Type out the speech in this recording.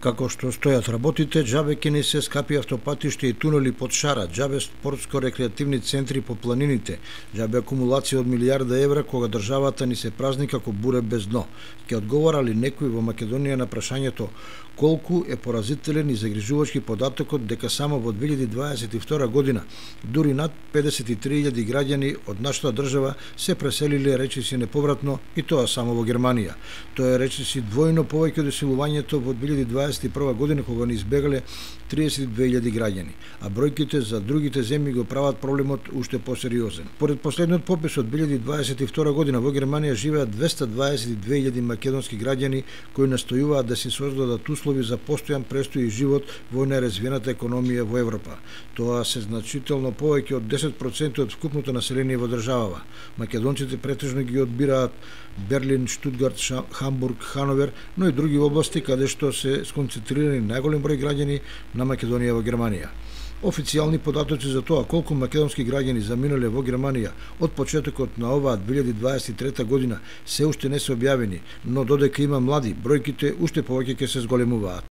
Како што стојат работите, џабе ќе ни се скапи автопатиште и тунели под шара, џабе спортско-рекреативни центри по планините, џабе акумулација од милијарда евра кога државата ни се празни како буре без дно. Ќе одговара ли некој во Македонија на прашањето колку е поразителен и загрижувачки податокот дека само во 2022 година дури над 53.000 граѓани од нашата држава се преселиле речиси неповратно и тоа само во Германија. Тоа е речиси двојно повеќе од иселувањето во 2021 година кога ни избегале 32.000 граѓани, а бројките за другите земји го прават проблемот уште посериозен. Поред последниот попис од 2022 година во Германија живеат 222.000 македонски граѓани кои настојуваат да се создадат услови за постојан престој и живот во најразвиената економија во Европа. Тоа се значително повеќе од 10% од вкупното население во државава. Македонците претежно ги одбираат Берлин, Штутгарт, Хамбург, Хановер, но и други области каде што се сконцентрирани најголем број граѓани на Македонија во Германија. Официјални податоци за тоа колку македонски граѓани заминале во Германија од почетокот на оваа 2023 година се уште не се објавени, но додека има млади, бројките уште повеќе ќе се зголемуваат.